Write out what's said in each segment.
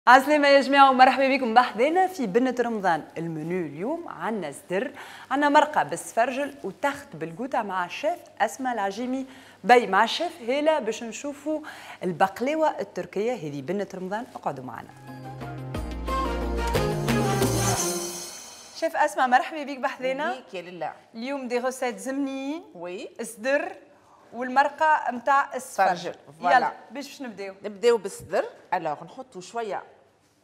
عسلامة يا جماعة ومرحبا بكم بحذانا في بنة رمضان. المنيو اليوم عنا صدر، عنا مرقة بالسفرجل و tarte بالقوطة مع الشيف أسماء العجيمي بي، مع الشيف هيلا باش نشوفوا البقلاوة التركية. هذه بنة رمضان، اقعدوا معنا. شيف أسماء مرحبا بك بحذانا. بيك يا لله. اليوم des recettes زمنيين، oui، صدر والمرقة نتاع السفرجل. يلا باش نبداو؟ نبداو بالصدر. alors نحطوا شوية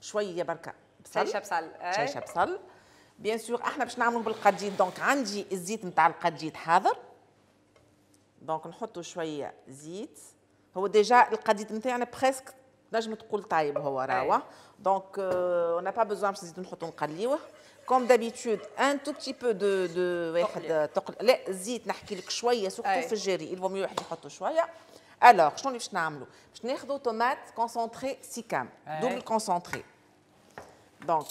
شوية بركة بصل، شيشة بصل، شيشة بصل bien sûr. احنا باش نعملوا بالقديد، donc عندي الزيت نتاع القديد حاضر، donc نحطوا شوية زيت. هو déjà القديد نتاعنا presque نجم تقول طايب هو راهو، donc on n'a pas besoin باش نزيدو نحطوا نقليوه. comme d'habitude un tout petit peu de واحد تقل، لا الزيت نحكي لك شوية surtout في الجاري il vaut mieux واحد يحطوا شوية. alors شنو اللي باش نعملوا؟ باش ناخذوا tomate concentrée سيكام double concentrée. donc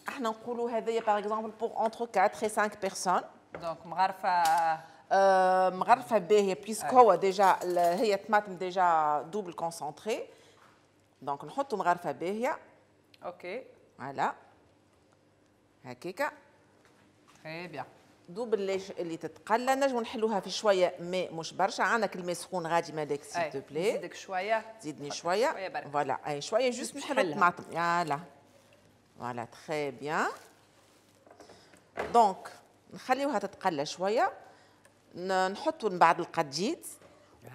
احنا نقولوا هذايا par exemple pour entre 4 et 5 personnes. donc مغرفه مغرفه باهيه puisque هو déjà هي طماطم déjà double concentrée، donc نحطوا مغرفه باهيه. OK voilà هكاكا très bien. دوب اللي تتقلى نجمو نحلوها في شوية ماء مش برشا. عندك الماء سخون غادي مالك s'il te plaît؟ نزيدك شوية، زيدني شوية voilà اي شوية juste نحلو الطماطم. يلا voilà très bien. donc نخليوها تتقلى شوية، نحطوا من بعد القديد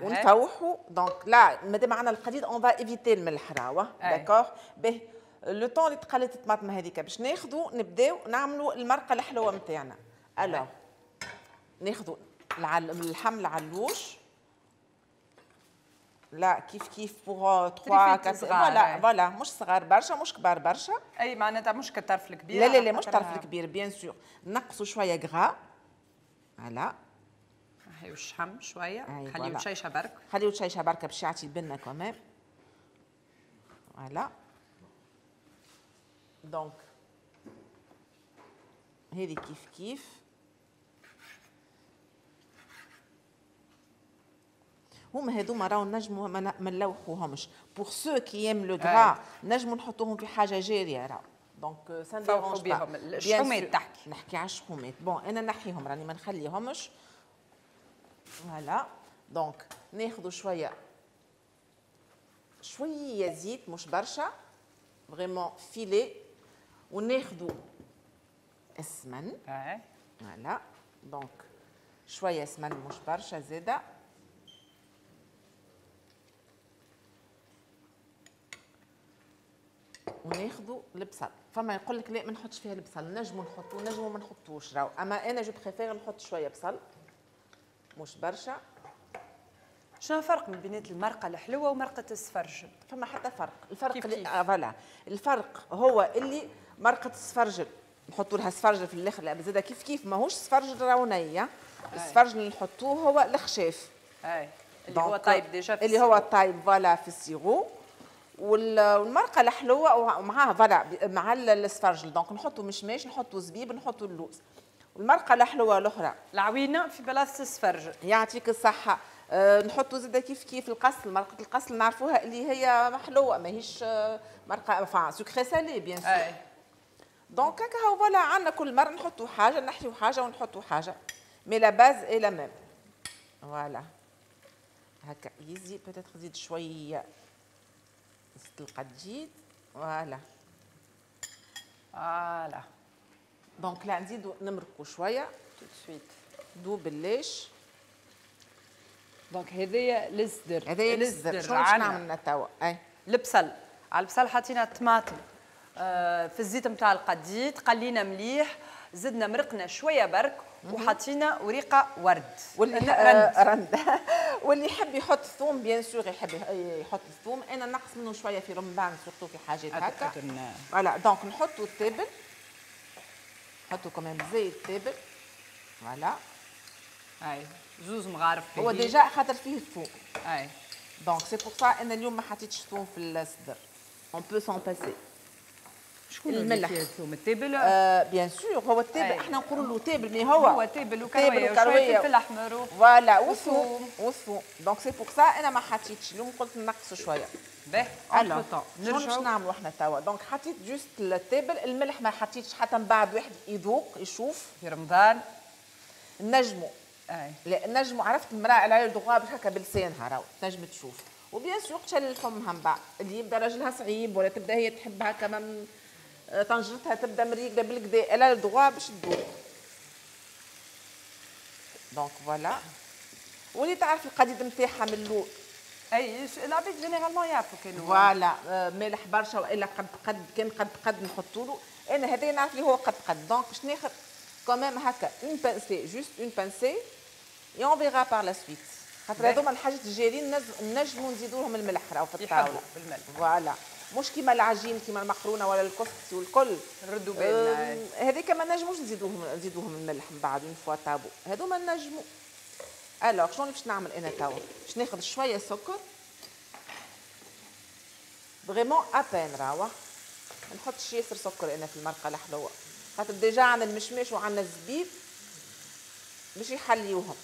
ونفوحوا. donc لا مادام عندنا القديد on va éviter الملح راهو d'accord. به le temps اللي تقلت الطماطم هذيك باش ناخذوا نبداو نعملوا المرقه الحلوة نتاعنا. alors ناخذوا اللحم العلوش لا كيف كيف pour 3 4 voilà voilà مش صغار برشا مش كبار برشا. اي معناتها مش كالطرف الكبير. لا لا لا مش الطرف الكبير bien sûr. نقصوا شوية gras voilà، نحيو الشحم شوية، خليو تشيشه برك، خليو تشيشه بركة باش يعطي البنه quand même. voilà donc هذه كيف كيف. هما هذوما راهو نجمو ما نلوحوهمش pour ceux qui aiment le gras، نجمو نحطوهم في حاجة جارية راهو. donc ça ne dérange بيهم الشحومات تحكي، نحكي على الشحومات. bon انا نحيهم راني ما نخليهمش. voilà donc ناخذوا شوية شوية زيت مش برشا vraiment filet، وناخذوا السمن. voilà donc شوية سمن مش برشا زاده. وناخذوا البصل. فما يقول لك لا ما نحطش فيها البصل، نجمو نحطو نجمو ما نحطوش راهو، اما انا je préfère نحط شوية بصل مش برشا. شنو الفرق من بين المرقه الحلوة ومرقه السفرجل؟ فما حتى فرق. الفرق كيف كيف؟ voilà الفرق هو اللي مرقه السفرجل نحطوا لها سفرجل في الاخر، لا زاده كيف كيف ماهوش سفرجل راهو نيه. السفرجل اللي نحطوه هو الخشاف اي اللي هو طايب déjà، اللي هو طايب voilà في ال sirop. والمرقه الحلوة ومعاها voilà مع السفرجل. donc نحطوا مشماش، نحطوا زبيب، نحطوا اللوز. والمرقه الحلوة الاخرى العوينة في بلاصة السفرجل. يعطيك الصحة. نحطوا زاده كيف كيف القصل، مرقه القصل نعرفوها اللي هي محلوه ماهيش مرقه enfin sucré salé bien sûr. donc هكا هو voilà عندنا كل مرة نحطوا حاجة، نحيو حاجة ونحطوا حاجة، mais la base est la même. voilà هكا يزيد peut-être زيد شوية زيت القديد. voilà voilà donc لا نزيدو نمرقو شوية tout de suite دو بلاش. donc هذايا الصدر، هذايا الصدر. شنو باش نعمل توا؟ اي البصل، على البصل حطينا الطماطم في الزيت نتاع القديد، قلينا مليح، زدنا مرقنا شوية برك، وحطينا وريقه ورد واللي رند. واللي يحب يحط ثوم bien sûr يحب يحط الثوم، انا نقص منه شوية في رمضان surtout في حاجات هكا. voilà donc نحطوا التابل، نحطوا quand même زيت التابل. voilà اي زوز مغارف هو déjà خاطر فيه الثوم. اي donc c'est pour ça انا اليوم ما حطيتش ثوم في الصدر، on peut s'en passer. شكون الملح؟ الثوم التابل؟ bien sûr هو التابل، احنا نقولوا له تابل mais هو هو تابل وكرويه وشوية فلفل احمر voilà وثوم وثوم. donc c'est pour ça انا ما حطيتش اليوم، قلت نقص شوية. باهي نرجعوا باش نعملوا احنا توا. donc حطيت juste التابل، الملح ما حطيتش حتى من بعد واحد يذوق يشوف. في رمضان نجموا لا نجموا، عرفت المراة على دوغا باش هكا بلسانها راهو تنجم تشوف، و bien sûr تشلل فمها من بعد اللي يبدا راجلها صعيب ولا تبدا هي تحب هكا طنجرتها تبدا مريقله بالكدا، elle a le droit باش تذوق. donc voilà واللي تعرف القديد نتاعها من الاول. اي العباد généralement يعرفوا كانوا voilà مالح برشا والا قد قد، كان قد قد نحطوا له. انا هذا نعرف اللي هو قد قد، donc باش ناخذ quand même هكا une pincée، juste une pincée et on verra par la suite. خاطر هذوما الحاجات الجاريين نجموا نزيدوا لهم الملح راهو في الطاولة. بالملح voilà، مش كيما العجين كيما المقرونه ولا الكسكسي والكل نردوا بالنا هذيك ما نجموش نزيدوهم الملح من بعد une fois طابو، هذوما نجموا. alors شنو باش نعمل انا توا؟ باش ناخذ شوية سكر vraiment à peine راهو، ما نحطش ياسر سكر انا في المرقه الحلوة خاطر déjà عندنا المشماش وعندنا الزبيب باش يحليوهم.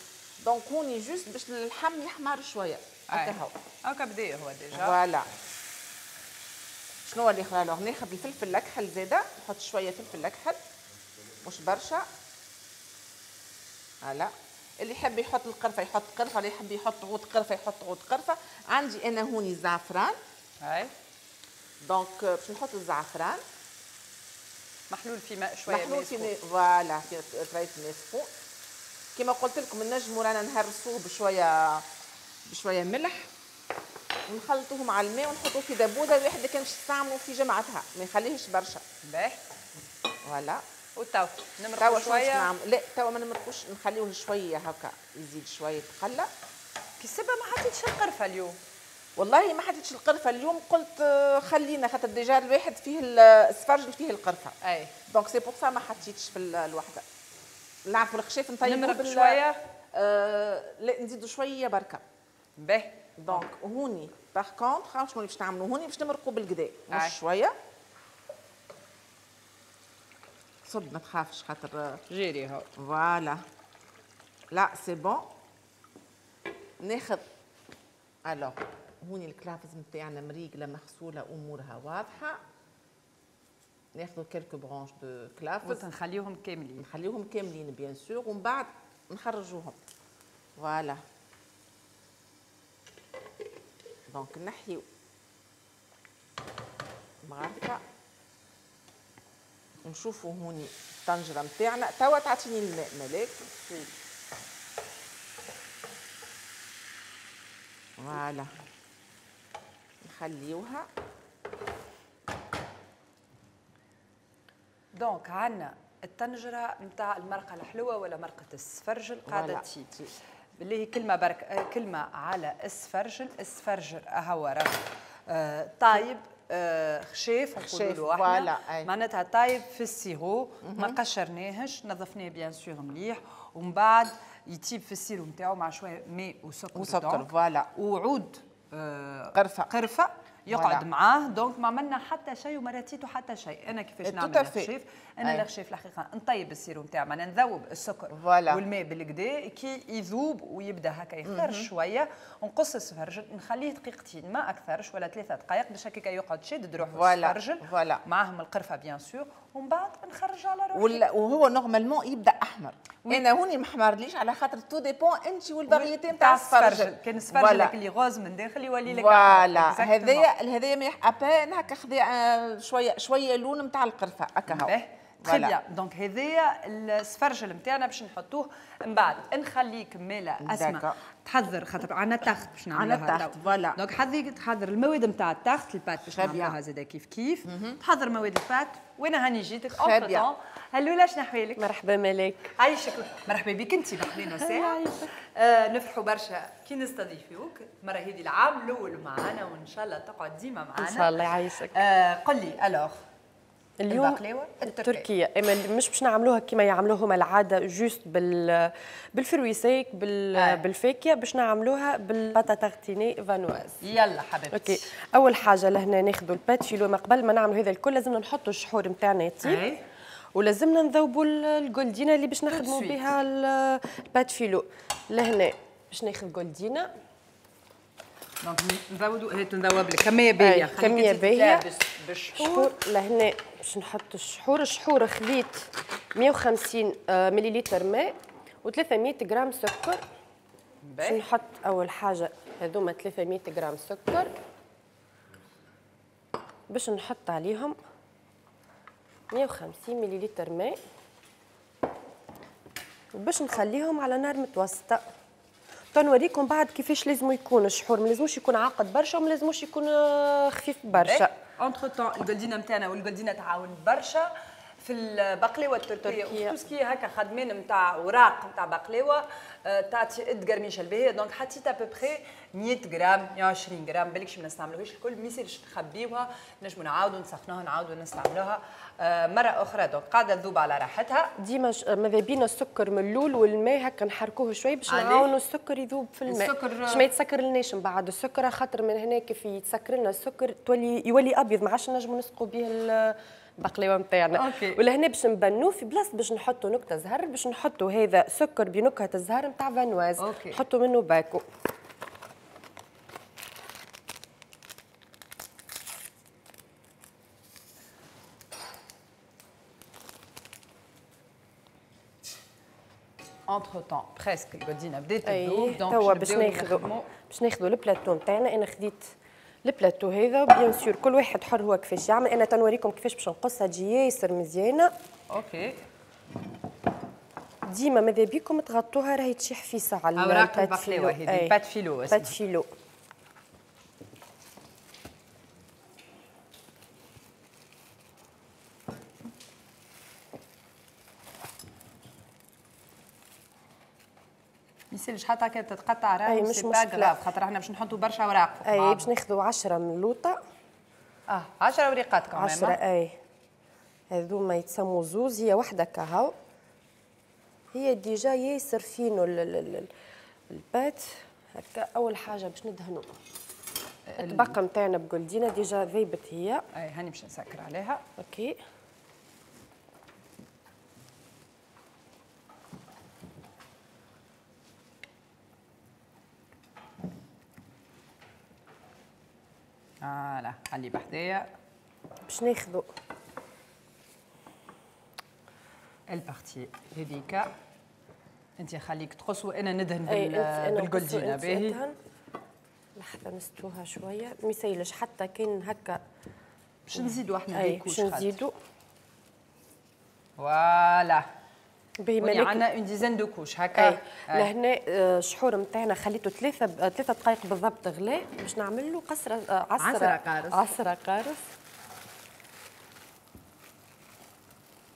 donc هوني juste باش اللحم يحمر شوية هكا هو هكا بدا هو déjà voilà. شنو اللي خلا؟ alors ناخذ الفلفل الاكحل زاده، نحط شوية فلفل اكحل مش برشا. voilà اللي يحب يحط القرفه يحط قرفه، اللي يحب يحط عود قرفه يحط عود قرفه. عندي انا هوني الزعفران. اي donc باش نحط الزعفران محلول في ماء شوية، محلول في ماء voilà في طريف ماء سخون. كما قلت لكم نجموا رانا نهرسوه بشوية بشوية ملح ونخلطوه مع الماء ونحطوه في دبوزه الواحد كان باش يستعملوا في جمعتها، ما يخليهش برشا. باهي voilà. وتو نمرقو شوية؟ لا توا ما نمرقوش، نخليوه شوية هكا يزيد شوية يتقلى. كي السبه ما حطيتش القرفه اليوم؟ والله ما حطيتش القرفه اليوم، قلت خلينا خاطر déjà الواحد فيه السفرجل فيه القرفه. اي donc c'est pour ça ما حطيتش في الوحدة. نعرفوا الخشاف نطيبوه نمرق شوية؟ لا نزيدوا شوية بركة. باهي. donc هوني par contre شنو باش نعملوا هوني؟ باش نمرقوا بالكدا مش شوية. صب ما تخافش خاطر جيري هو. voilà là c'est bon. ناخذ alors هوني الكلافز نتاعنا مريقله مغسوله امورها واضحة. ناخذ quelques branches de كلافز نخليهم كاملين، نخليهم كاملين bien sûr، ومن بعد نخرجوهم. voilà donc نحيو مغرفه نشوفوا هوني الطنجره نتاعنا. توا تعطيني الماء ملاك. voilà نخليوها. donc عندنا الطنجره نتاع المرقه الحلوة ولا مرقه السفرجل قاعدة تطيب. بالله كلمة برك، كلمة على السفرجل. السفرجل هو راه طايب خشاف نقولوا له احنا، معناتها طايب في ال sirop، ما قشرناهش، نظفناه bien sûr مليح، ومن بعد يطيب في ال sirop نتاعو مع شوية ماء وسكر وسكر voilà وعود قرفه قرفه يقعد معاه. donc ما عملنا حتى شيء وما راتيتو حتى شيء. انا كيفاش نعمل الخشاف؟ انا الخشاف الحقيقة نطيب ال sirop نتاع، معناها نذوب السكر والماء بالكدا، كي يذوب ويبدا هكا يخثر شوية نقص السفرجل، نخليه دقيقتين ما اكثرش ولا 3 دقائق باش هكاك يقعد شاد روحه السفرجل معاهم القرفه bien sûr، ومن بعد نخرج على روحي. وهو normalement يبدا احمر. انا هوني ما حمرليش على خاطر tout dépend انت وال variété نتاع السفرجل. كان السفرجل اللي rose من داخل يولي لك voilà. هذايا مليح à peine هكا خذا شوية شوية لون نتاع القرفه هكا هو. très bien. donc هذايا السفرجل نتاعنا باش نحطوه من بعد. نخليك مالا اسماء تحضر خاطر عندنا tarte باش نعملوها. عندنا tarte voilà. donc حضري تحضر المواد نتاع ال tarte ال pâte باش نعملوها زاده كيف كيف. تحضر مواد ال pâte وانا هاني جيتك entre-temps. هلولا شنو احوالك؟ مرحبا ملاك. عايشك. مرحبا بك انت بحلينا ساعة. نفرحوا برشا كي نستضيفوك المرة هذه، العام الاول معنا وان شاء الله تقعد ديما معنا ان شاء الله. يعيشك. قل لي alors اليوم البقلاوه التركية، اما مش باش نعملوها كما يعملوها هما العادة juste بال fruits secs بالفاكهه، باش نعملوها بال pâte à tartiner Vanoise. يلا حبيبتي. OK، اول حاجة لهنا ناخذوا ال pâte filo. ما قبل ما نعملوا هذا الكل لازمنا نحطوا الشحور نتاعنا يطيب، ولازمنا نذوبوا الجولدينا اللي باش نخدموا بها ال pâte filo. لهنا باش ناخذ جولدينا، donc نزودوا هي تنذوب لك كمية باهيه، كمية باهيه بالشحور. لهنا باش نحط الشحور. الشحور خذيت 150 مليلتر ماء و300 غرام سكر. باش نحط اول حاجة هذوما 300 غرام سكر، باش نحط عليهم 150 مليلتر ماء، وباش نخليهم على نار متوسطه. تنوريكم بعد كيفاش لازم يكون الشحور، ما لازموش يكون عاقد برشا وما لازموش يكون خفيف برشا. entre-temps الجلدينه نتاعنا، والجلدينه تعاون برشا في البقلاوه التركية و tout ce qui هكا خدمين نتاع اوراق نتاع بقلاوه، تعطي القرميشه الباهيه. donc حطيت à peu près 100 غرام 120 غرام، بالكش ما نستعملوهاش الكل، ما يصيرش نخبيوها، نجموا نعاودوا نسخنوها، نعاودوا نستعملوها مرة اخرى. donc قاعدة تذوب على راحتها. ديما ماذا بينا السكر من الاول والماء هكا نحركوه شوي باش نعاونوا السكر يذوب في الماء، باش ما يتسكر لناش من بعد السكر، خاطر من هنا كيف يتسكر لنا السكر تولي يولي ابيض، ما عادش نجموا نسقوا به البقلاوه نتاعنا. ولهنا باش نبنوه في بلاصة باش نحطوا نكتة زهر، باش نحطوا هذا سكر بنكهه الزهر نتاع Vanoise، نحطوا منه باكو. entre-temps presque الجولدينا بدات تذوب. donc توا باش ناخذوا البلاتو نتاعنا. انا خديت البلاتو هذا، bien sûr كل واحد حر هو كيفاش يعمل. انا تنوريكم كيفاش باش نقصها تجي ياسر مزيانه. OK، ديما ماذا بيكم تغطوها، راهي تشيح في ساعة. اوراق البقلاوه هذه pâte filo، pâte filo. ميسالش حتى كي تتقطع راهي مش مشكلة، خاطر احنا باش نحطوا برشا اوراق. اي باش ناخذوا 10 من اللوطه. 10 وريقات كمان. 10 اي، هذوما يتسموا زوز، هي وحده كهو، هي déjà ياسر فينو ال pâte هكا. اول حاجة باش ندهنوا الطبقة نتاعنا بجولدينا، déjà ذيبت هي. اي هاني باش نسكر عليها. OK، voilà خلي بحذايا. باش ناخذوا ال partie هذيك، انت خليك تقص وانا ندهن بالجولدينا. باهي لحظة نستوها شوية، ما يسيلش حتى كان هكا باش نزيدوا احنا des couches، باش نزيدوا. voilà باهي مالك، عندنا une dizaine de couches هكا. لهنا الشحور نتاعنا خليته 3 دقائق بالضبط غلاء، باش نعمل له قصره عصره قارص،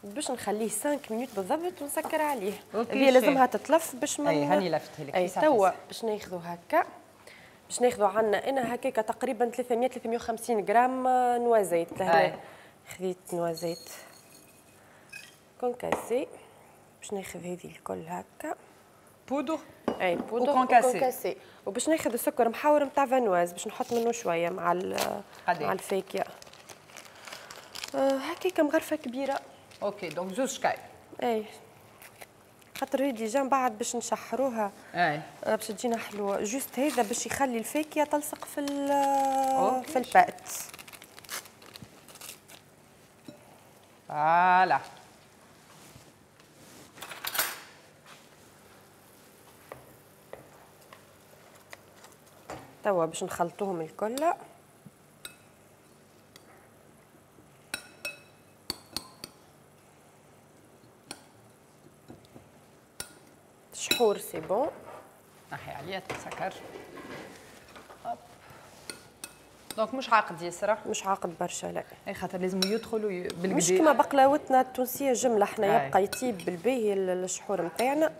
باش نخليه 5 minutes بالضبط ونسكر عليه. هي لازمها تتلف باش ما اي هاني لفتها لك. توا باش ناخذوا هكا، باش ناخذوا عندنا انا هكاكا تقريبا 300 350 غرام noisettes. لهنا خذيت noisettes concassées، باش ناخذ هذه الكل هكا بودر، اي poudre و concassée، وباش ناخذ السكر محور نتاع Vanoise باش نحط منه شوية مع مع الفاكهة. هكاكا مغرفه كبيرة. OK donc زوج شكاير. اي خاطر هي déjà من بعد باش نشحروها. اي باش تجينا حلوة. juste هذا باش يخلي الفاكهة تلصق في في ال pâte. voilà توا باش نخلطوهم الكل. شحور c'est bon. نحي عليا تسكر. donc مش عاقد ياسر، مش عاقد برشا لا. اي خاطر لازم يدخلوا بالكدا، مش كيما بقلاوتنا التونسية جملة، احنا يبقى يطيب بالباهي الشحور نتاعنا.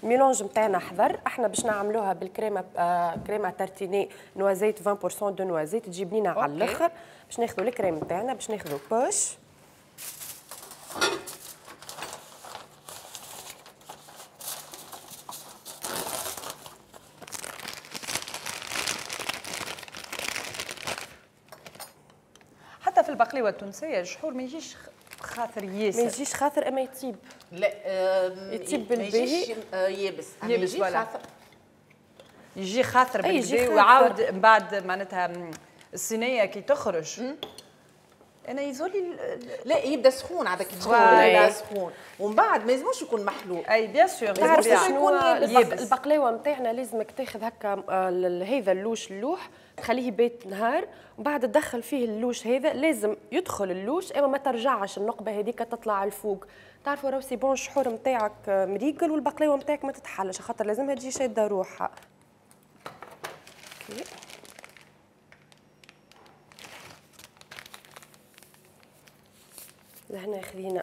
ال mélange نتاعنا حضر، احنا باش نعملوها بالكريمه crème à tartiner noisettes 20% de noisettes تجي بنينه على الاخر. باش ناخذوا الكريم نتاعنا، باش ناخذوا poche. حتى في البقلاوه التونسية الشحور ما يجيش خاثر ياسر، ما يجيش خاثر اما يطيب. لا يطيب بالباهي، يابس يابس ولا يجي خاثر بالباهي ويعاود من بعد معناتها الصينية كي تخرج انا يزولي لا يبدا سخون عادك يبدا سخون ومن بعد ما يلزموش يكون محلول. اي bien sûr تعرف شنو البقلاوه نتاعنا لازمك تاخذ هكا هذا ال louche اللوح تخليه يبات نهار ومن بعد تدخل فيه ال louche هذا، لازم يدخل ال louche اما ما ترجعش النقبه هذيك تطلع الفوق. تعرفوا راهو c'est bon الشحور نتاعك مريقل والبقلاوه نتاعك ما تتحلش خاطر لازمها تجي شاده روحها. OK لهنا خذينا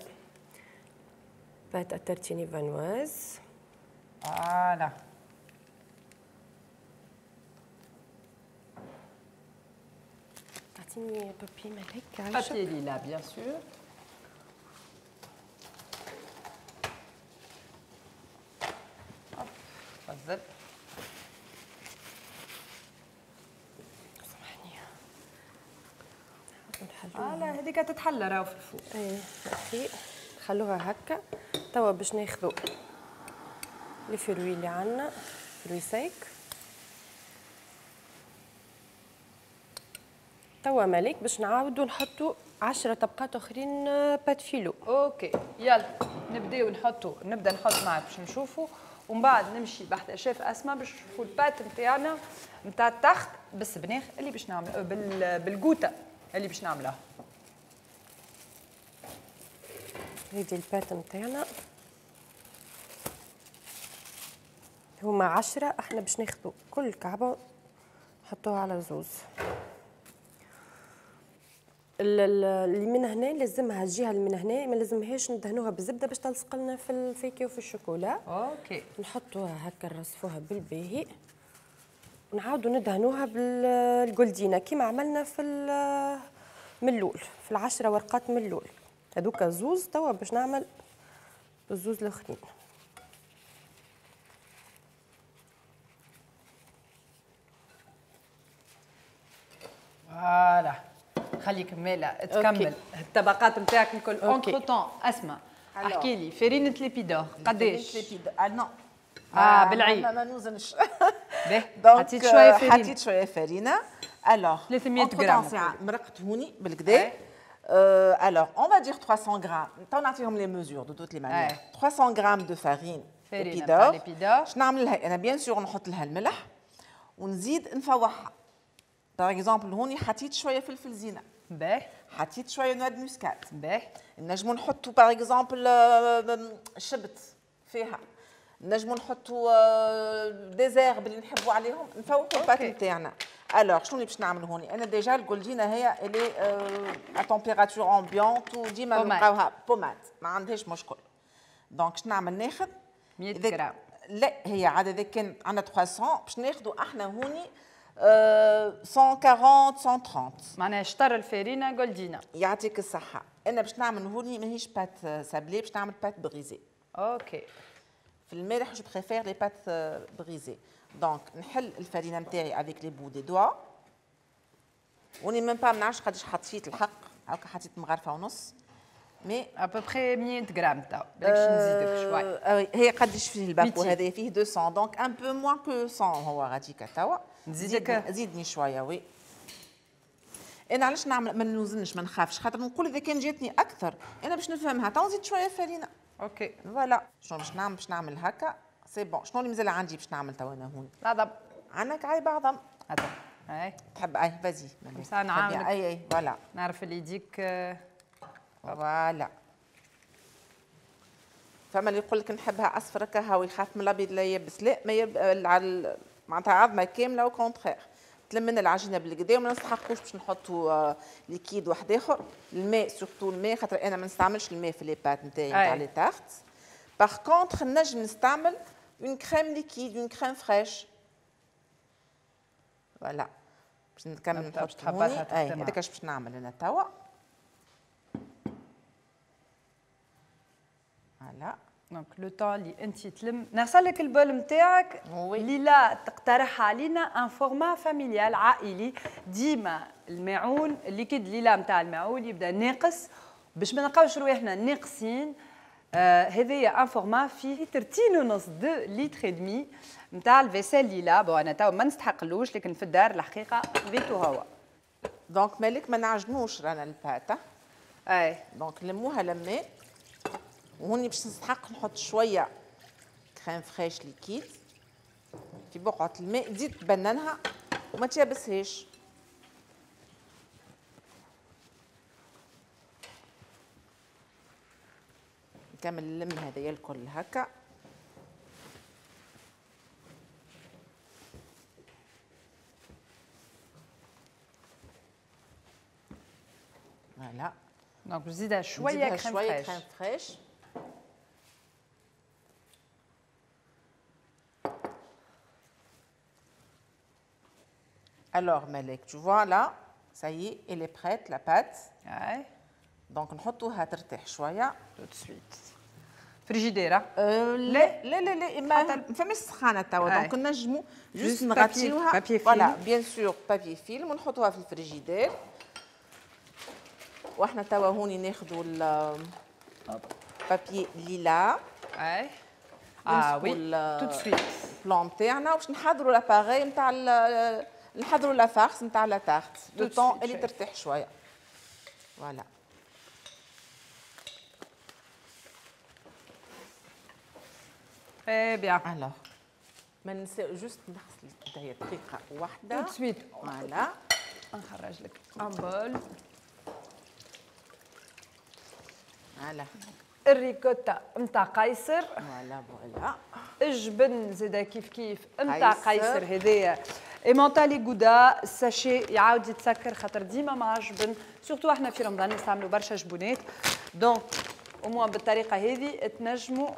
pâte à tartiner viennoise. voilà تعطيني papier ملك papier ليلا bien sûr. تفضل. سامحني voilà هذيك تتحلى راهو في ال four. اي OK نخلوها هكا. توا باش ناخذوا les fruits اللي عندنا، fruits secs. توا مالك باش نعاودوا نحطوا 10 طبقات اخرين pâte filo. OK يلا نبداو نحطوا، نبدا نحط معاك باش نشوفوا ومن بعد نمشي بحذا شيف اسماء باش نشوفوا ال pâte نتاعنا نتاع ال tarte بالسبناخ اللي باش نعمل بالقوطه اللي باش نعملها. هذه ال pâte نتاعنا هما 10، احنا باش ناخذوا كل كعبه نحطوها على زوز. اللي من هنا لازمها الجهة اللي من هنا ما لازمهاش ندهنوها بالزبده باش تلصق لنا في الفاكهة وفي الشوكولا. OK نحطوها هكا نرصفوها بالباهي ونعاودوا ندهنوها بالجولدينا كيما عملنا في من الاول في 10 ورقات من الاول. هذوك زوز توا باش نعمل الزوز الاخرين. voilà خليك مالا تكمل الطبقات نتاعك الكل. entre-temps اسماء احكي لي فرينة L'Épi d'Or قداش؟ L'Épi d'Or non بالعين ما نوزنش. حطيت شوية فرينه، حطيت شوية فرينه. alors 300 غرام مرقت هوني بالكدا. Alors, on va dire 300 grammes. تو نعطيهم les mesures de toutes les manières. 300 grammes de farine L'Épi d'Or. باش نعمل لها انا bien sûr نحط لها الملح ونزيد نفوحها. par exemple هوني حطيت شوية فلفل زينة. باهي. حطيت شوية noix de muscade. باهي. نجمو نحطو par exemple شبت فيها. نجمو نحطو des herbes اللي نحبو عليهم، نفوحو ال pâte نتاعنا. alors شنو اللي باش نعمل هوني؟ انا déjà الجولدينا هي اللي à température ambiante وديما نلقاوها pommade ما عندهاش مشكل. donc شنو نعمل؟ ناخذ 100 غرام. لا هي عاد اذا كان عندنا 300 باش ناخذوا احنا هوني 140 130 معناها شطر الفارينه جولدينا. يعطيك الصحة. انا باش نعمل هوني ماهيش pâte sablée، باش نعمل pâte brisée. OK في المالح je préfère les pâtes brisées. donc نحل الفرينة نتاعي avec les bouts des doigts وني même pas ما نعرفش قداش حطيت الحق، هاكا حطيت مغرفه ونص mais à peu près 100 غرام تاع بالكش نزيدك شوي. هي قداش فيه الباكو هذا؟ فيه 200 donc un peu moins que 100 هو غاديكا توا. نزيدك زيدني شوية oui. انا علاش نعمل ما نوزنش ما نخافش، خاطر نقول اذا كان جاتني اكثر انا باش نفهمها تو نزيد شوية فرينه. OK voilà شنو باش نعمل؟ باش نعمل هكا c'est bon. شنو اللي مازال عندي باش نعمل توا انا هون؟ العظم. عندك عيب عظم. عظم اي تحب اي vas-y نعاونك. اي اي voilà نعرف اللي يديك voilà. فما اللي يقول لك نحبها اصفر هكا ويخاف من الابيض لا يبس، لا ما يب... معناتها عظمه كاملة au contraire تلمنا العجينة بالكدا وما نستحقوش باش نحطوا liquide واحد اخر. الماء surtout الماء، خاطر انا ما نستعملش الماء في les pâtes نتاعي نتاع les tartes. par contre نجم نستعمل une crème liquide، une crème fraîche. voilà باش نكمل نحط هوني. اي هذاك اش باش نعمل انا توا. voilà donc le temps اللي انت تلم نغسل لك ال bol نتاعك. ليلى تقترح علينا un format familial عائلي. ديما الماعون ال liquide ليلى نتاع الماعون يبدا ناقص باش ما نلقاوش رواحنا ناقصين. هذايا un format فيه 3.5 2 لتر demi نتاع ال vaisselle ليلى. bon انا تو ما نستحقلوش لكن في الدار الحقيقة خذيتو هو. donc مالك ما نعجنوش رانا ال pâte. اي donc لموها لمات. وهوني باش نستحق نحط شوية crème fraîche liquide في بقعة الماء، تزيد تبننها وما تيابسهاش. نكمل نلم هذايا الكل هكا. voilà donc نزيدها شوية كريم fraîche. crème fraîche. Alors Malek, tu vois là, ça y est, elle est prête la pâte. Ouais. Donc نحطوها ترتاح شوية. Tout de suite. فريجيديرة؟ لا لا لا لا ما فماش سخانة توا، donc نجمو juste نغطيوها. papier film. voilà bien sûr papier film ونحطوها في الفريجيدير. واحنا توا هوني ناخذوا ال papier ليلا. اي اه oui tout de suite ال plan تاعنا باش نحضروا l'appareil نتاع نحضروا la farce نتاع la tarte le temps اللي ترتاح شوية. voilà très bien. alors ما ننساو juste نغسل يديا دقيقة واحدة tout de suite. voilà نخرج لك un bol. voilà الريكوتا نتاع قيصر. voilà voilà الجبن زادا كيف كيف نتاع قيصر. هذايا emmental gouda sachet يعاود يتسكر خاطر ديما مع الجبن، surtout احنا في رمضان نستعملوا برشا جبونات. donc au moins بالطريقة هذه تنجموا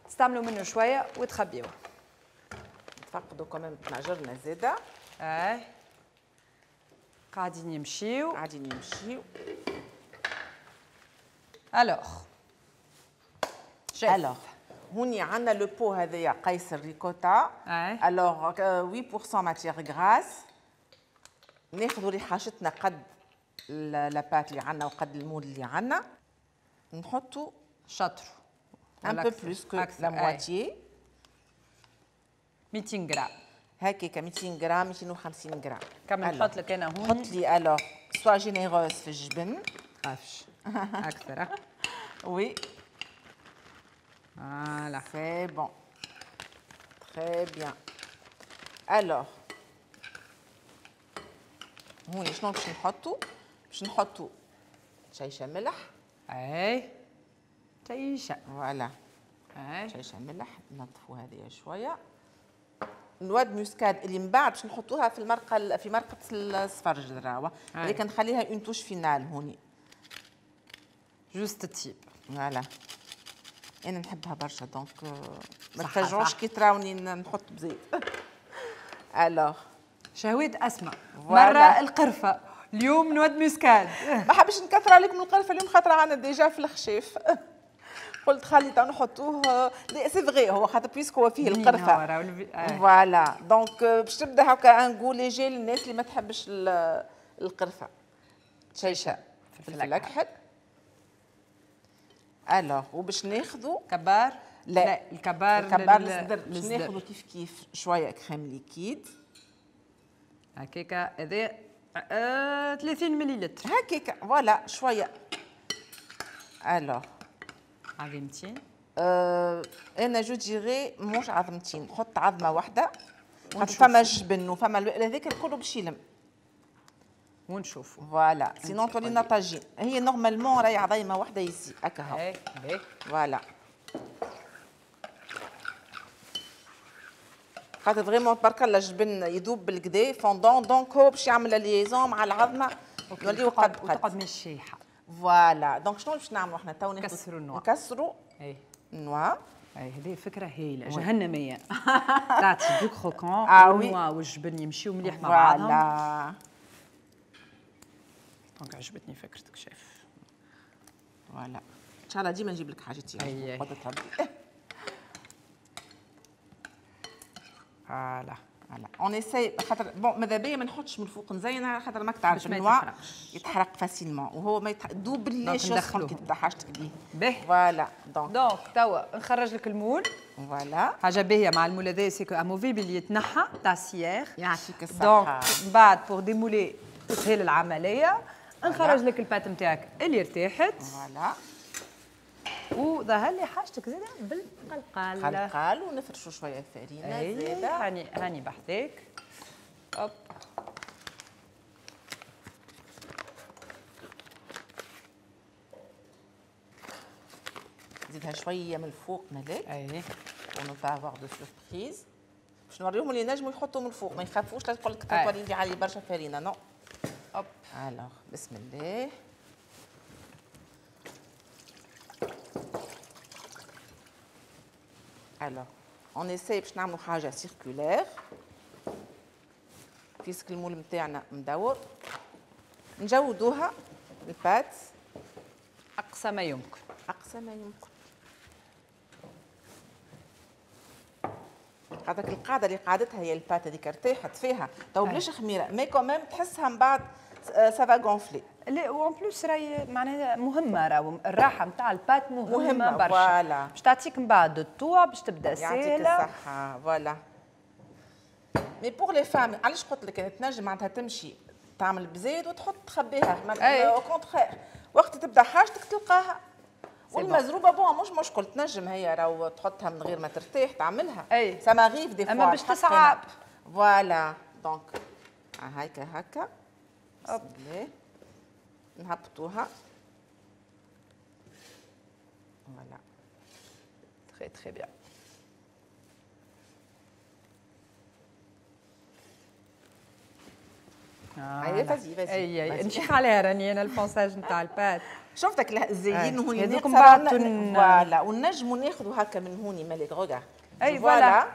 تستعملوا منه شوية وتخبيوه. نتفقدوا quand même طناجرنا زاده. اي قاعدين يمشيو قاعدين يمشيو. alors alors هوني عندنا le pot هذايا قيصر ricotta. alors 8% matière grasse. ناخذوا اللي حاجتنا قد la pâte اللي عندنا وقد ال moule اللي عندنا، نحطوا شطر un peu plus que la moitié 200 غرام هكاك 200 غرام 250 غرام. كمل نحط لك انا هون. حط لي alors sois généreuse في الجبن. خافش اكثر. oui voilà c'est bon très bien. alors هوني شنو باش نحطو؟ باش نحطو شيشة ملح. اي شيشة voilà اي شيشة ملح. ننظفو هذه شوية. noix de muscade اللي من بعد باش نحطوها في المرقه، في مرقه السفرجل راهو، لكن نخليها une touche finale هوني juste تيب. voilà انا نحبها برشا donc ما تفاجعوش كي تراوني نحط بزيت. alors شهوات اسماء مرة القرفه، اليوم noix de muscade. ما حبش نكثر عليكم القرفه اليوم خاطر عندنا déjà في الخشيف. قلت خلي تو نحطوه. لا c'est vrai هو خاطر puisque هو فيه القرفه. voilà donc باش تبدا هكا un goût léger للناس اللي ما تحبش القرفه. شيشة فلفل اكحل. alors وباش ناخذوا كبار. لا, لا الكبار الكبار للصدر. باش ناخذوا كيف كيف شوية crème liquide هكاكا. هذا 30 مليلتر هكاكا voilà شوية. alors عظمتين. انا je dirais موش عظمتين، نحط عظمه واحدة خاطر فما جبن وفما هذاك الكل باش يلم ونشوفوا. voilà sinon تولي طاجين. هي normalement راهي عظيمة واحدة يزي هكا هو. voilà خاطر vraiment تبارك الله الجبن يذوب بالكدا fondant، donc هو باش يعمل liaison مع العظمة نوليو قد قد وتقعد مش شايحه. voilà donc شنو باش نعملوا احنا تو؟ نكسروا ال noix. نكسروا اي ال noix. اي هذه فكرة هايلة جهنميه. تعطي du croquant وال noix والجبن يمشيو مليح مع بعضهم. voilà donc عجبتني فكرتك chef. voilà ان شاء الله ديما نجيب لك حاجتي. voilà voilà on essaie خاطر bon ماذا بيا ما نحطش من الفوق نزين على خاطر ماك تعرف ال noix يتحرق facilement وهو ما دوب ليش يسخن كي تبدا حاجتك بيه. باهي voilà donc توا نخرج لك ال moule. voilà حاجة باهيه مع ال moule هذا c'est que amovible يتنحى تاع cire. يعطيك الصحة. donc من بعد pour démouler تسهل العملية. نخرج لك ال pâte نتاعك اللي ارتاحت. voilà وظهر لي حاجتك زاده بالقلقال. قلقال ونفرشوا شوية فرينه زاده. هاني بحثك. hop نزيدها شوية من الفوق ملاك. اي pour ne pas avoir de surprise باش نوريهم اللي نجموا يحطوا من الفوق ما يخافوش لا تقول لك تولي لي علي برشا فرينه. non hop alors بسم الله. alors on essaie باش نعملوا حاجة circulaire puisque ال moule نتاعنا مدور نجودوها ال pâte اقصى ما يمكن. اقصى ما يمكن. هذاك القاعدة اللي قعدتها هي ال pâte هذيك ارتاحت فيها تو بلاش خميره mais quand même تحسها من بعد ça va gonfler. لا و en plus راهي معناها مهمة، راهو الراحة نتاع ال pâte مهمة برشا. voilà باش تعطيك من بعد الطوع باش تبدا ساهله. يعطيك الصحة. voilà mais pour les femmes علاش قلت لك تنجم معناتها تمشي تعمل بزايد وتحط تخبيها au contraire وقت تبدا حاجتك تلقاها. والمزروبه bon مش مشكل تنجم هي راهو تحطها من غير ما ترتاح تعملها. اي ça m'arrive des fois اما باش تصعب. voilà donc هكا هكا بسم الله نهبطوها. voilà très très bien. اي vas-y vas-y اي نشيخ عليها راني انا ال ponçage نتاع ال pâte. شفتك الزيين هوني هذوك بعد voilà ونجموا ناخذوا هكا من هوني مالك regarde. اي voilà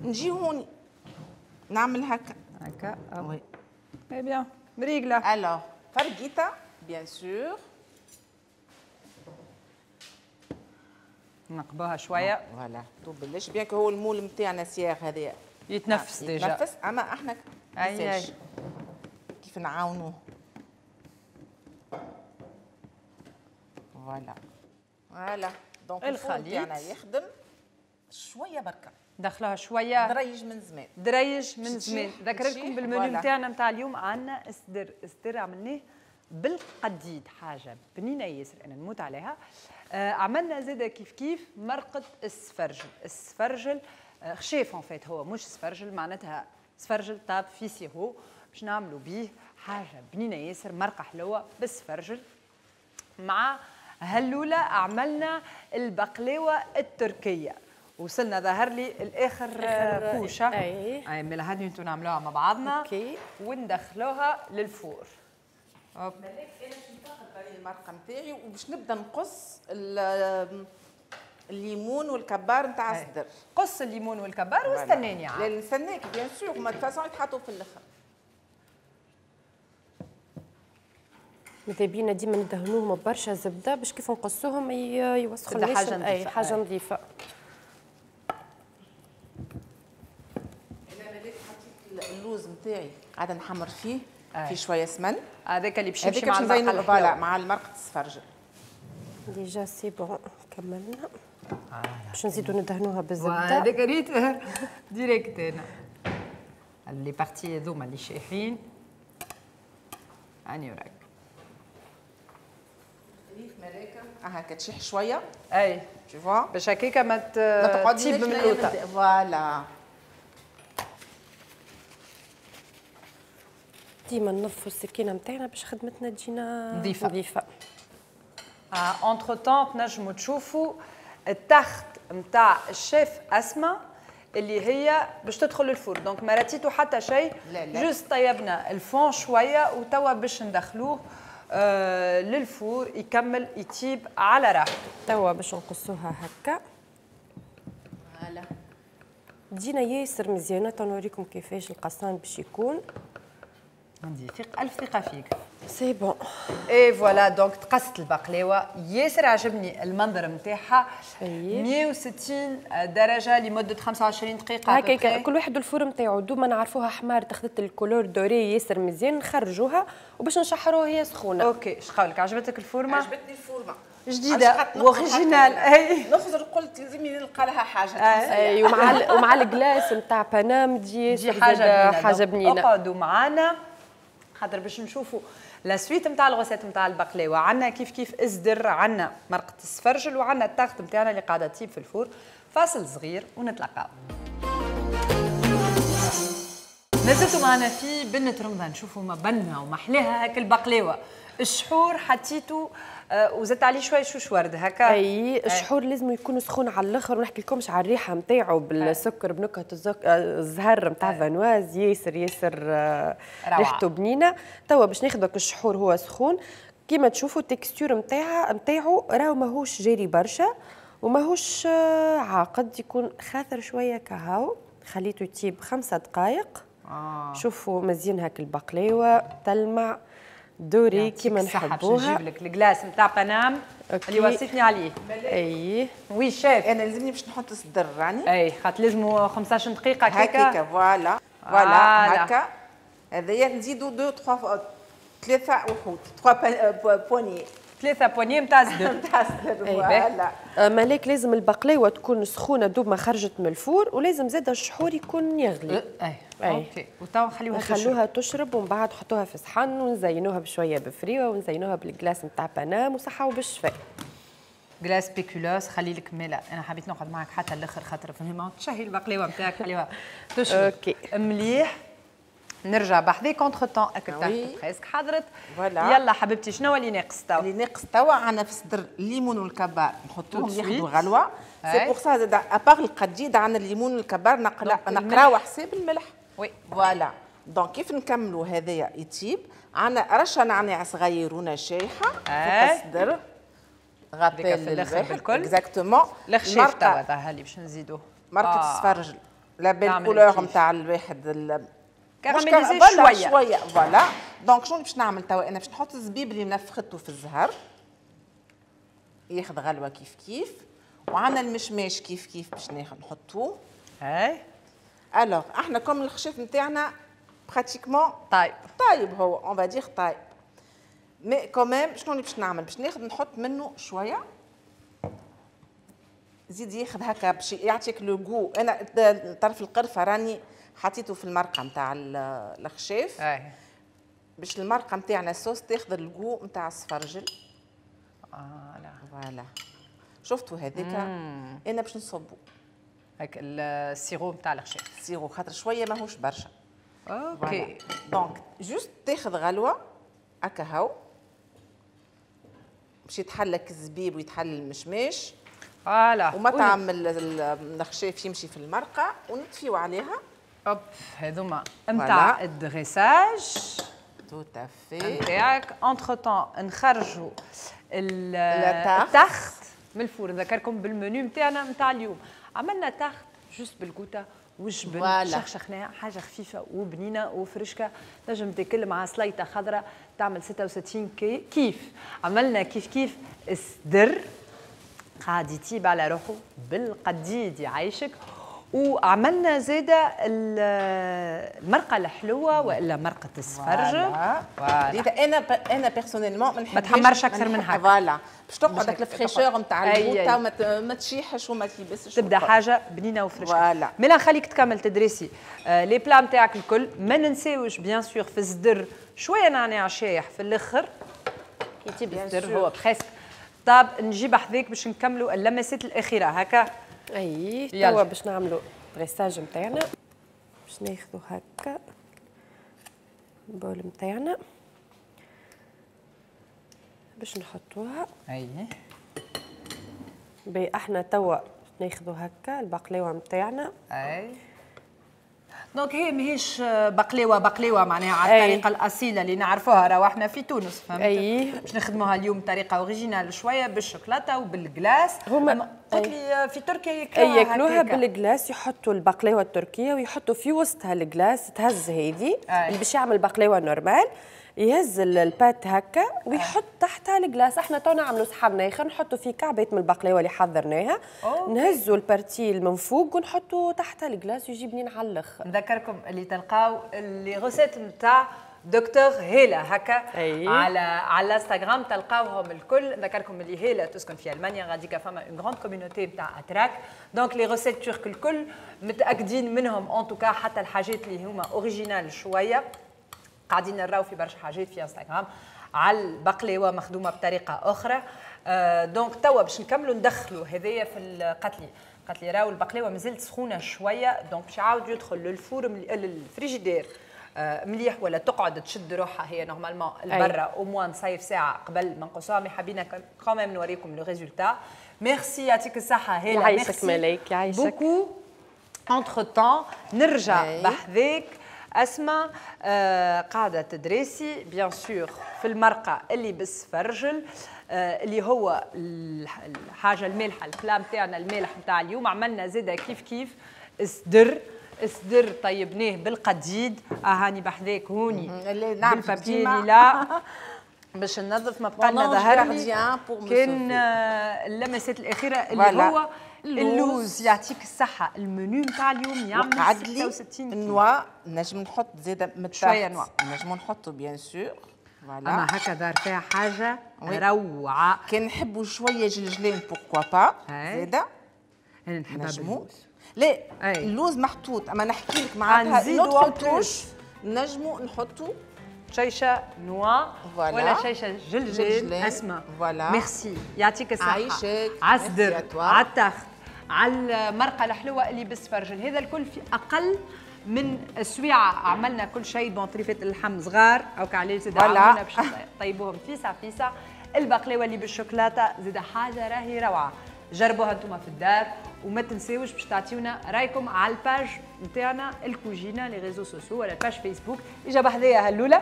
نجي هوني نعمل هكا هكا oui très bien مريقله. alors فرقيتا bien sûr نقبوها شوية. voilà تو بلاش bien que هو ال moule نتاعنا cire هذايا يتنفس déjà يتنفس اما احنا اي كيف نعاونوه. voilà voilà donc الخليط تاعنا يخدم شوية بركة دخلوها شوية دريج من زمان. دريج من زمان. ذكرتكم بالمنيو نتاعنا نتاع اليوم عندنا الصدر. الصدر عملناه بالقديد حاجة بنينه ياسر انا نموت عليها. عملنا زاده كيف كيف مرقه السفرجل. السفرجل خشاف en fait هو مش سفرجل معناتها سفرجل طاب في sirop باش نعملوا بيه حاجة بنينه ياسر مرقه حلوة بالسفرجل. مع هلوله عملنا البقلاوه التركية. وصلنا ظهر لي الاخر couche. اي اي ملا هذه انتو نعملوها مع بعضنا. OK وندخلوها لل four. hop ملاك انا باش نتاخذ المرقه نتاعي وباش نبدا نقص الليمون والكبار نتاع الصدر. قص الليمون والكبار واستناني عاد. لا نستناك bien sûr ما façon يتحطوا في الاخر. ماذا بينا ديما ندهنوهم ببرشا زبدة باش كيف نقصوهم يوسخوا لنا حاجة نظيفة. حاجة نظيفة. انا ملاك حطيت اللوز نتاعي قاعدة نحمر فيه في شوية سمن هذاك اللي باش يمشي مع المرقه مع المرقه السفرجل. déjà c'est bon كملنا باش نزيدو ندهنوها بالزبده. هذاك ريت direct انا les parties هذوما اللي شايحين هاني وراك. ريف ملاكه هكا تشيح شوية. اي tu vois باش هكاكا ما تقعدش من اللوطه. voilà ديما ننظفوا السكينة نتاعنا باش خدمتنا تجينا نظيفة نظيفة. entre-temps تنجموا تشوفوا ال tarte نتاع الشيف اسماء اللي هي باش تدخل ال four، donc ما راتيتو حتى شيء، juste طيبنا ال fond شوية وتوا باش ندخلوه لل four يكمل يطيب على راحته. توا باش نقصوها هكا voilà تجينا ياسر مزيانه. تنوريكم كيفاش القصان باش يكون. عندي ثقة، ألف ثقة فيك. c'est bon. et voilà donc تقصت البقلاوه، ياسر عجبني المنظر نتاعها. 160 درجه لمدة 25 دقيقة. هكاك كل واحد ال four نتاعو، دوب ما نعرفوها حمار تاخذت ال couleur dorée ياسر مزيان نخرجوها وباش نشحروها هي سخونة. OK، اش قولك؟ عجبتك الفورمة؟ عجبتني الفورمة جديدة و originale. اي نخزر قلت لازمني نلقى لها حاجة. اي ومع ال glace نتاع بنام تجي حاجة بنينه. اقعدوا معانا خاطر باش نشوفوا la suite نتاع ال recette نتاع البقلاوه. عندنا كيف كيف ازدر، عندنا مرقه السفرجل، وعندنا ال tarte نتاعنا اللي قاعدة تطيب في ال four. فاصل صغير ونتلاقاو. مازلتوا معنا في بنة رمضان. شوفوا ما بنها ومحلاها هاك البقلاوه. الشحور حطيته وزدت عليه شوية شوش ورد هكا. اي الشحور لازم يكون سخون على الاخر، ونحكي لكمش على الريحة نتاعو بالسكر بنكهه الزهر نتاع Vanoise، ياسر ياسر ريحته بنينه. توا باش ناخذ الشحور هو سخون كيما تشوفوا ال texture نتاعو راهو ماهوش جاري برشا وماهوش عاقد، يكون خاثر شوية كهاو. خليته يطيب 5 دقائق. شوفوا مزيان هاك البقلاوه تلمع dorée كيما نحبوها. نجيب لك ال glace نتاع بنام اللي وصيتني عليه. اي oui chef. انا لازمني باش نحط الصدر راني. اي خاطر لازمو 15 دقيقة هكاكا. هكاكا voilà voilà هكا. هذايا نزيدو 2 3 3 وحوت 3 poignées 3 poignées نتاع الصدر. نتاع الصدر voilà. مالك لازم البقلاوه تكون سخونة دوب ما خرجت من ال four، ولازم زاد الشحور يكون يغلي. اي OK. وتوا نخلوها تشرب، ومن بعد حطوها في صحن ونزينوها بشوية بفريوه ونزينوها بال glace نتاع بنام وصحة وبالشفاء. glace spéculoos خلي لك مالا. انا حبيت نقعد معك حتى الاخر خاطر فهمت تشهي البقلاوه نتاعك، خليوها تشرب. OK مليح. نرجع بحذاك entre-temps اكل tarte presque حضرت. يلا حبيبتي شنو اللي ناقص توا؟ اللي ناقص توا عندنا في صدر الليمون والكبار نحطوهم ياخذوا غلوه. c'est pour ça زاد à part القديد عندنا الليمون والكبار نقراو حساب الملح. oui voilà. donc كيف نكملوا هذايا يطيب عندنا رشه نعناع صغيرونه شايحه فوق الصدر rappel في الاخر بالكل exactement. الخشيف توا ظهر لي باش نزيدوه مرقه السفرجل la belle couleur نتاع الواحد caramélisée شوية شوية voilà. donc شنو باش نعمل توا؟ انا باش نحط الزبيب اللي منفخته في الزهر ياخذ غلوه كيف كيف، وعندنا المشماش كيف كيف باش نحطوه. اي alors احنا comme الخشاف نتاعنا pratiquement طيب طيب هو on va dire طيب، mais quand même شنو اللي باش نعمل؟ باش ناخذ نحط منه شوية زيد ياخذ هكا باش يعطيك le goût. انا طرف القرفه راني حطيته في المرقه نتاع الخشاف باش المرقه نتاعنا الصوص تاخذ ال goût نتاع السفرجل. لا voilà شفتوا هذاك انا باش نصبو هاك ال sirop نتاع الخشاف، ال sirop خاطر شوية ماهوش برشا. OK donc juste تاخذ غلوه هكا هاو باش يتحلك الزبيب ويتحل المشماش. voilà ومطعم الخشاف يمشي في المرقه ونطفيو عليها. hop هذوما نتاع ال dressage tout à fait نتاعك. entre-temps نخرجوا ال tarte من ال four. نذكركم بالمنيو نتاعنا نتاع اليوم. عملنا tarte juste بالقوطه وجبن شخشخناها، حاجة خفيفة وبنينه وفرشكه، تنجم تاكل مع سليطه خضراء تعمل 66 كيف. عملنا كيف كيف الصدر قاعد يطيب على روحه بالقديد يعيشك، وعملنا زاده المرقه الحلوة والا مرقه السفرجل. voilà انا personnellement ما تحمرش اكثر من هكا. voilà باش تقعد هاك ال fraîcheur نتاع القوطه وما تشيحش وما تيبسش، تبدا حاجة بنينه وفريشة. ملا نخليك تكمل تدريسي les plats نتاعك الكل. ما ننساوش bien sûr في الصدر شوية نعناع شايح في الاخر كي يطيب الصدر هو presque طاب. نجيب حذاك باش نكملوا اللمسات الاخيرة هكا. اي توا باش نعملوا dressage نتاعنا، باش ناخذوا هكا ال bol نتاعنا باش نحطوها. اي باهي احنا توا ناخذوا هكا البقلاوه نتاعنا. اي donc هي ماهيش بقلاوه بقلاوه معناها على الطريقة الاصيلة اللي نعرفوها راهو احنا في تونس، فهمت؟ باش نخدموها اليوم بطريقة originale شوية بالشوكولاته وبال glace. هما قلت لي في تركيا ياكلوها، ياكلوها بال glace، يحطوا البقلاوه التركية ويحطوا في وسطها ال glace. تهز هذه اللي باش يعمل بقلاوه normale يهز ال pâte هكا ويحط تحتها ال glace. احنا تو نعملوا صحن اخر نحطوا فيه كعبات من البقلاوه اللي حضرناها، نهزوا ال partie من فوق ونحطوا تحتها ال glace ويجي بنين على الاخر. نذكركم اللي تلقاو les recettes نتاع دكتور هيلا هكا على الانستغرام تلقاوهم الكل. نذكركم اللي هيلا تسكن في المانيا، غاديكا فما une grande communauté نتاع اتراك، donc les recettes turques الكل متاكدين منهم en tout cas، حتى الحاجات اللي هما originales شوية قاعدين نراو في برشا حاجات في انستغرام على البقلاوه مخدومة بطريقة اخرى. Donc توا باش نكملوا ندخلوا هذايا في القتلي. قتلي راهو البقلاوه مازالت سخونة شويه، donc باش يعاود يدخل لل four لل frigidaire مليح ولا تقعد تشد روحها هي normalement البرا au moins نصيف ساعة قبل ما نقصوها، mais حبينا quand même نوريكم le résultat. merci، يعطيك الصحة هيلا. يعيشك ملاك، يعيشك beaucoup. entre-temps نرجع بحذاك اسماء، قاعدة تدريسي bien sûr في المرقه اللي بالسفرجل، اللي هو الحاجة المالحه، ال plat نتاعنا المالح نتاع اليوم. عملنا زاده كيف كيف الصدر، الصدر طيبناه بالقديد. هاني بحذاك هوني بال papier lilas باش ننظف، ما بقى لنا ظهر كان اللمسات الاخيرة اللي هو اللوز. يعطيك الصحه. المنيو نتاع اليوم يعمل 66 noix، نجم نحط زاده من شوية noix. نجم نحطو bien sûr. voilà، اما هكا دار فيها حاجة روعه. كان نحبوا شوية جلجلين pourquoi pas زاده. انا نحبها باللوز. لا اللوز محطوط، اما نحكي لك معناتها notre touche نجمو نحطو شيشة noix ولا شيشة جلجل. اسماء voilà، ميرسي، يعطيك الصحه. عايشك. على الصدر، على ال tarte، على المرقه الحلوة اللي بالسفرجل، هذا الكل في اقل من سويعه عملنا كل شيء. bon طريفه اللحم صغار او كعليه زاد عملنا باش طيبوهم فيسع فيسع. البقلاوه اللي بالشوكولاته زاد حاجة راهي روعه، جربوها انتم في الدار وما تنساوش باش تعطيونا رايكم على ال page نتاعنا الكوجينه les réseaux sociaux ولا ال page فيسبوك. اجا بحذايا هلوله.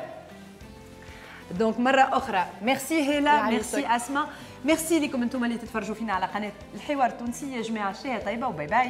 donc مرة اخرى ميرسي هيلا، ميرسي اسماء، ميرسي لكم انتم اللي تتفرجوا فينا على قناة الحوار التونسي. يا جماعة شهية طيبة و bye bye.